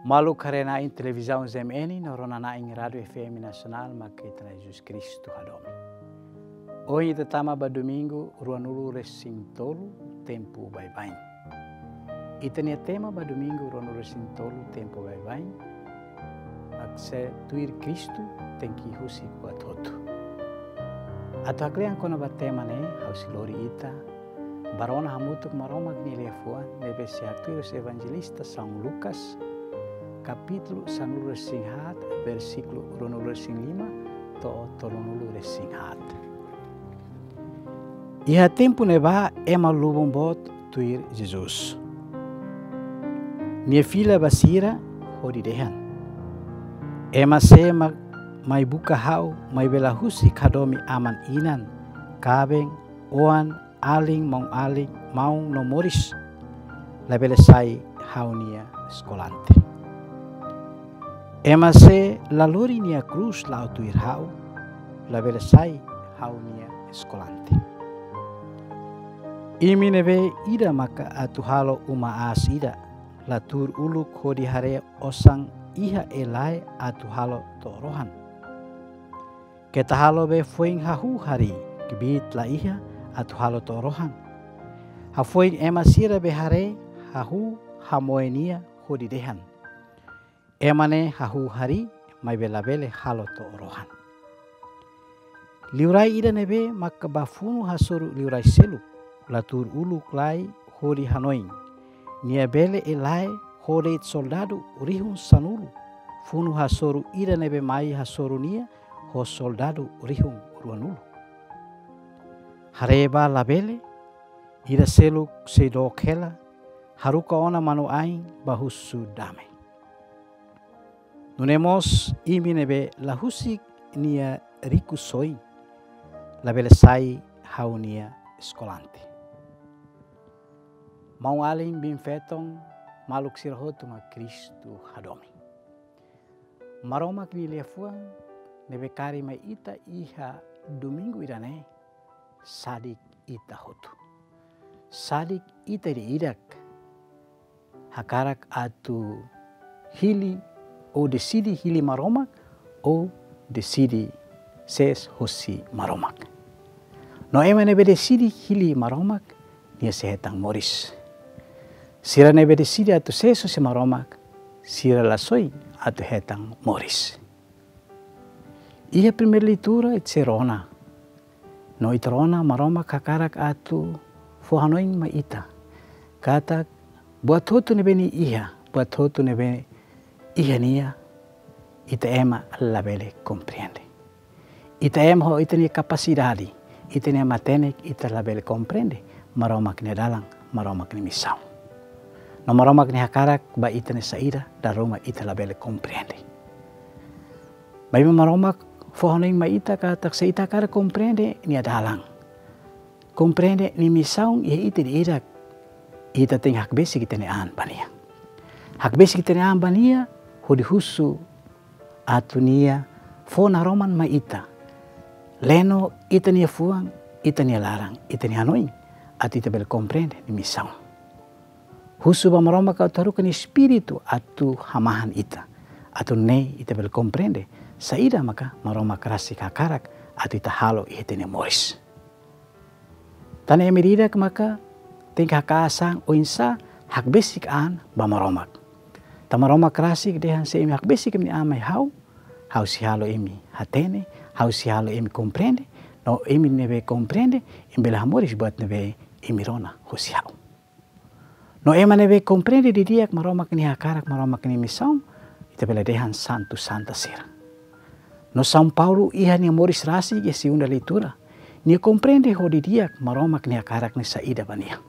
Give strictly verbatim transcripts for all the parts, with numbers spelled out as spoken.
Maluk haree-na'in televizaun Z M N no rona-na'in Rádiu F M Nasionál, mak ita-nia Jesus Kristu hadomi. Ohin ita tama ba domingu ruanulu-resin-tolu tempu baibain. Ita-nia tema ba domingu ruanulu-resin-tolu tempu baibain mak sei tuir Kristu tenke husik buat hotu. Atu haklean kona-ba tema ne'e, ha'u sei lori ita bá rona hamutuk Maromak nia liafuan ne'ebé sei haktuir husi Evanjelista São Lucas, kapítulu sanulu-resin-haat, versíkulu ruanulu-resin-lima to'o tolunulu-resin-haat. Iha tempu ne'ebá ema lubun boot tuir Jesus. Nia fila ba sira hodi dehan: Ema sé mak mai buka ha'u, maibé la husik hadomi aman-inan, kaben, oan, alin, maun-alin, maun no moris, labele sai ha'u-nia eskolante. Ema sé la lori nia krús la'o tuir ha'u, labele sai ha'u-nia eskolante. Imi ne'ebé ida maka atu halo uma aas ida, la tuur uluk hodi haree osan iha e lae atu halo to'o rohan. Keta halo be foin hahú harii, kbiit la iha atu halo to'o rohan. Hafoin ema sira be haree, hahú hamoe nia hodi dehan: Ema ne'e hahú harii, maibé labele halo to'o rohan. Liurai ida ne'ebé maka bá funu hasoru liurai seluk, la tuur uluk lai hodi hanoin. Nia bele e lae ho de'it soldadu rihun sanulu, funu hasoru ida ne'ebé mai hasoru nia ho soldadu rihun ruanulu. Haree bá labele, ida seluk sei dook hela, haruka ona manu-ain bá husu dame. Nune'e mós imi ne'ebé la husik nia rikusoin, labele sai ha'u-nia eskolante. Maun-alin, biin-feton, maluk sira hotu mak Kristu hadomi. Maromak nia liafuan ne'ebé kaer mai ita iha domingu ida-ne'e, sadik ita hotu. Sadik ita ida-idak hakarak atu hili ou deside hili Maromak, ou deside sees hosi Maromak. No ema ne'ebé deside hili Maromak, nia sei hetan moris. Sira ne'ebé deside atu sees hosi Maromak, sira la soin atu hetan moris. Iha primeira leitura ita sei rona. No ita rona Maromak hakarak atu fó hanoin mai ita katak buat hotu ne'ebé nia iha, buat hotu ne'ebé iha nia, ita ema labele komprende. Ita ema ho ita-nia kapasidade, ita-nia matenek, ita labele komprende Maromak nia dalan, Maromak nia misaun. No Maromak nia hakarak ba ita ne'e saida, dala ruma ita labele komprende. Maibé Maromak fó hanoin mai ita katak se ita hakarak komprende nia dalan, komprende nia misaun iha ita ida-idak, ita tenke hakbesik ita-nia an ba nia. Hakbesik ita-nia an ba nia hodi husu atu nia fó naroman mai ita, leno ita-nia fuan, ita-nia laran, ita-nia hanoin, atu ita bele komprende nia misaun. Husu ba Maromak atu haruka nia Espíritu atu hamahan ita, atu nune'e ita bele komprende saida maka Maromak rasik hakarak atu ita halo iha ita-nia moris. Tan ne'e ema ida-idak maka tenke haka'as an oinsá hakbesik an ba Maromak. Tanba Maromak rasik dehan se imi hakbesik imi-nia an mai ha'u, ha'u sei halo imi hatene, ha'u sei halo imi komprende, no imi ne'ebé komprende, imi bele hamoris buat ne'ebé imi rona hosi ha'u. No ema ne'ebé komprende didi'ak Maromak nia hakarak, Maromak nia misaun, ita bele dehan santu santa sira. No São Paulo iha nia moris rasik iha segunda leitura, nia komprende ho didi'ak Maromak nia hakarak ne'e saida ba nia.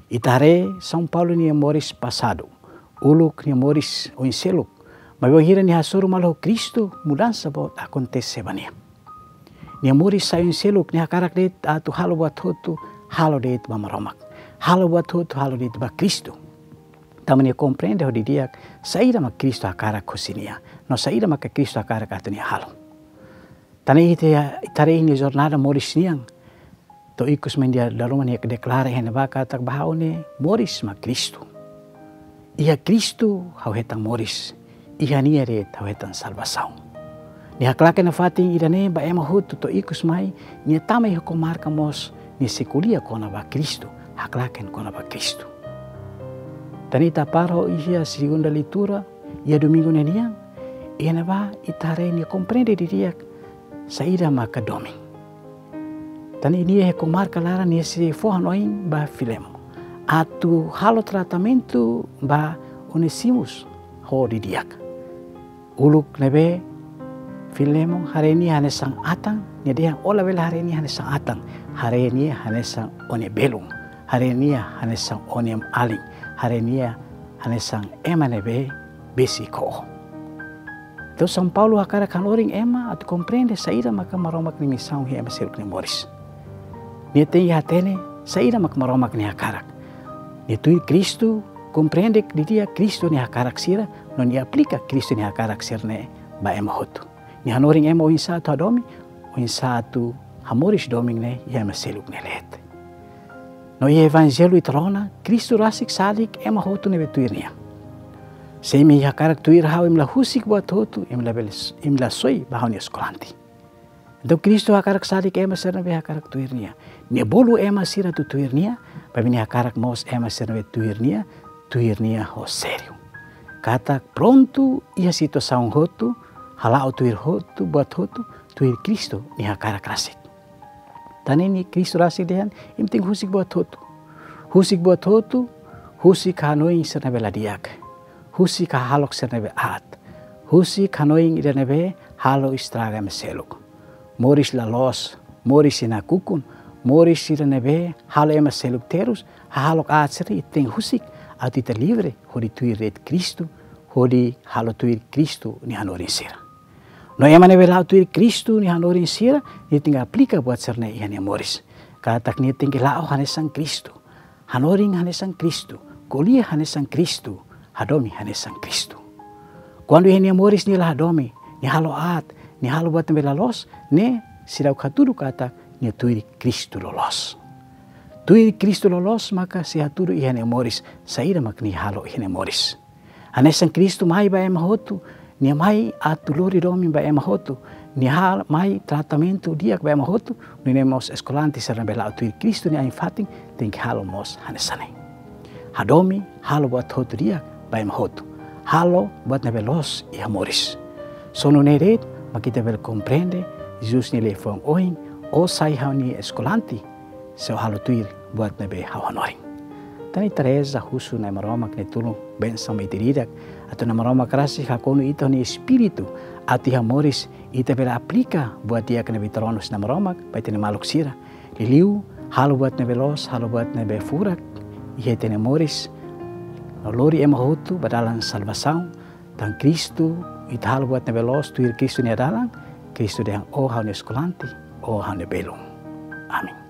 Ita haree São Paulo nia moris pasadu, uluk nia moris oin seluk, maibé bainhira nia hasoru malu ho Kristu, mudansa boot akontese ba nia. Nia moris sai oin seluk, nia hakarak de'it atu halo buat hotu, halo de'it ba Maromak. Halo buat hotu, halo de'it ba Kristu. Tanba nia komprende ho didi'ak saida mak Kristu hakarak hosi nia, no saida mak Kristu hakarak atu nia halo. Tan ne'e ita haree iha nia jornada moris nian, to'o ikus mai nia dala ruma nia deklara iha ne'ebá katak ba ha'u ne'e moris mak Kristu. Iha Kristu ha'u hetan moris, iha Nia de'it ha'u hetan salvasaun. Nia haklaken nafatin ida-ne'e ba ema hotu to'o ikus mai, Nia tama iha komarka mós, Nia sei ko'alia kona-ba Kristu, haklaken kona-ba Kristu. Tan ita para iha segunda leitura, iha domingu ne'e nian, iha ne'ebá ita haree Nia komprende didi'ak saida maka domin. Tan ne'e iha komarka laran Nia sei fó hanoin ba Filemon atu halo tratamentu ba Onesimus ho didi'ak. Uluk ne'ebé Filemon haree nia hanesan atan, nia dehan ó labele haree nia hanesan atan, haree nia hanesan ó-nia belun, haree nia hanesan ó-nia alin, haree nia hanesan ema ne'ebé besik ho ó. Entaun São Paulo hakarak hanorin ema atu komprende saida maka Maromak nia misaun iha ema seluk nia moris. Nia tenke hatene saida maka Maromak nia hakarak. Nia tuir Kristu, komprende didi'ak Kristu nia hakarak sira, no nia aplika Kristu nia hakarak sira-ne'e ba ema hotu. Nia hanorin ema oinsá atu hadomi, oinsá atu hamoris domin ne'e iha ema seluk nia leet. No iha Evanjellu ita rona, Kristu rasik salik ema hotu ne'ebé tuir Nia. Se imi hakarak tuir ha'u, imi la husik buat hotu, imi labele, imi la soi ba ha'u-nia eskolante. Entaun Kristu hakarak salik ema sira ne'ebé hakarak tuir Nia. Nia bolu ema sira atu tuir Nia, maibé Nia hakarak mós ema sira ne'ebé tuir Nia, tuir Nia ho sériu. Katak prontu iha situasaun hotu, hala'o tuir hotu, buat hotu, tuir Kristu nia hakarak rasik. Tan ne'e Kristu rasik dehan, imi tenke husik buat hotu. Husik buat hotu, husik hanoin sira ne'ebé la di'ak. Husik hahalok sira ne'ebé aat. Husik hanoin ida ne'ebé halo estraga ema seluk. Moris la loos, moris nakukun, moris sira ne'ebé halo ema seluk terus, hahalok aat sira ita tenke husik, atu ita livre, hodi tuir de'it Kristu, hodi halo tuir Kristu nia hanorin sira. No ema ne'ebé la'o tuir Kristu nia hanorin sira, nia tenke aplika buat sira-ne'e iha nia moris. Katak nia tenke la'o hanesan Kristu. Hanorin hanesan Kristu, ko'alia hanesan Kristu, hadomi hanesan Kristu. Kuandu iha nia moris nia la hadomi, nia halo aat, nia halo buat ne'ebé la loos, ne'e seidauk hatudu katak nia tuir Kristu loloos. Tuir Kristu loloos maka sei hatudu iha nia moris, saida mak nia halo iha nia moris. Hanesan Kristu mai ba ema hotu, nia mai atu lori domin ba ema hotu, nia hal mai tratamentu di'ak ba ema hotu, nune'e mós eskolante sira ne'ebé la'o tuir Kristu nia ain-fatin, tenke halo mós hanesan ne'e. Hadomi, halo buat hotu di'ak ba ema hotu. Halo buat ne'ebé loos iha moris. Só nune'e de'it, mak ita bele komprende, Jesus nia liafuan ohin, ó sai ha'u-nia eskolante, se ó halo tuir buat ne'ebé ha'u hanorin. Tan ne'e ita reza husu Na'i Maromak nia tulun bensaun mai ita ida-idak, atu Na'i Maromak rasik hakonu ita ho nia Espíritu, atu iha moris ita bele aplika buat di'ak ne'ebé ita rona husi Na'i Maromak ba ita-nia maluk sira. Liuliu, halo buat ne'ebé loos, halo buat ne'ebé furak iha ita-nia moris, no lori ema hotu ba dalan salvasaun, tan Kristu, ita halo buat ne'ebé loos tuir Kristu nia dalan, Kristu dehan ó ha'u-nia eskolante, ó ha'u-nia belun. Amen.